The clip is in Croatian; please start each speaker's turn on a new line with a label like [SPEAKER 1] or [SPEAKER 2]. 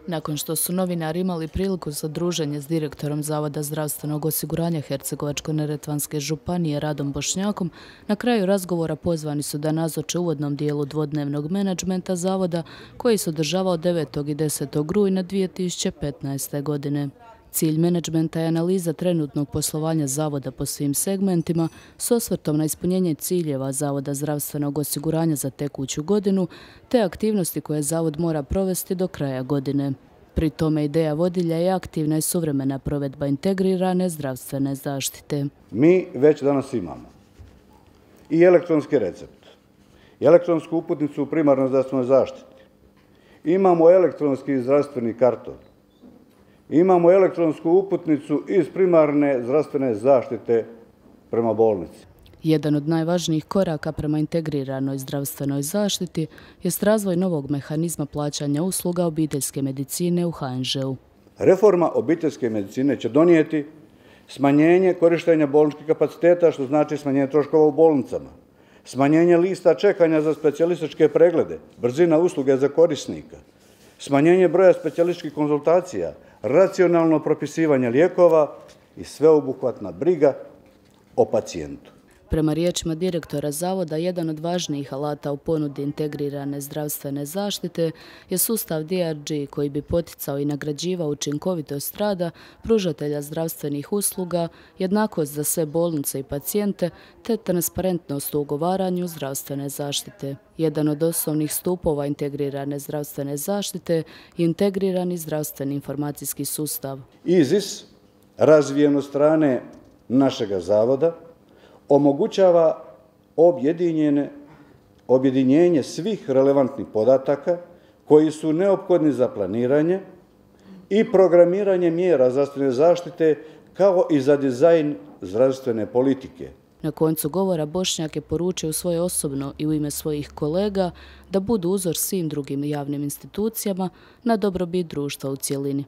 [SPEAKER 1] Nakon što su novinari imali priliku za druženje s direktorom Zavoda zdravstvenog osiguranja Hercegovačko-neretvanske županije Radom Bošnjakom, na kraju razgovora pozvani su da nazoče uvodnom dijelu dvodnevnog menadžmenta Zavoda koji se održavao 9. i 10. rujna 2015. godine. Cilj menadžmenta je analiza trenutnog poslovanja Zavoda po svim segmentima s osvrtom na ispunjenje ciljeva Zavoda zdravstvenog osiguranja za tekuću godinu te aktivnosti koje Zavod mora provesti do kraja godine. Pri tome ideja vodilja je aktivna i suvremena provedba integrirane zdravstvene zaštite.
[SPEAKER 2] Mi već danas imamo i elektronski recept, i elektronsku uputnicu u primarnoj zdravstvenoj zaštiti, imamo elektronski zdravstveni karton, imamo elektronsku uputnicu iz primarne zdravstvene zaštite prema bolnici.
[SPEAKER 1] Jedan od najvažnijih koraka prema integriranoj zdravstvenoj zaštiti jest razvoj novog mehanizma plaćanja usluga obiteljske medicine u HNŽ-u.
[SPEAKER 2] Reforma obiteljske medicine će donijeti smanjenje korištenja bolničkih kapaciteta, što znači smanjenje troškova u bolnicama, smanjenje lista čekanja za specijalističke preglede, brzina usluge za korisnika, smanjenje broja specijalističkih konzultacija, racionalno propisivanje lijekova i sveobuhvatna briga o pacijentu.
[SPEAKER 1] Prema riječima direktora Zavoda, jedan od važnijih alata u ponudi integrirane zdravstvene zaštite je sustav DRG koji bi poticao i nagrađivao učinkovitost rada pružatelja zdravstvenih usluga, jednakost za sve bolnice i pacijente te transparentnost u ugovaranju zdravstvene zaštite. Jedan od osnovnih stupova integrirane zdravstvene zaštite je integrirani zdravstveni informacijski sustav.
[SPEAKER 2] IZIS, razvijen od strane našega Zavoda, omogućava objedinjenje svih relevantnih podataka koji su neophodni za planiranje i programiranje mjera zdravstvene zaštite kao i za dizajn zdravstvene politike.
[SPEAKER 1] Na koncu govora Bošnjak je poručio u svoje osobno i u ime svojih kolega da budu uzor svim drugim javnim institucijama na dobrobit društva u cjelini.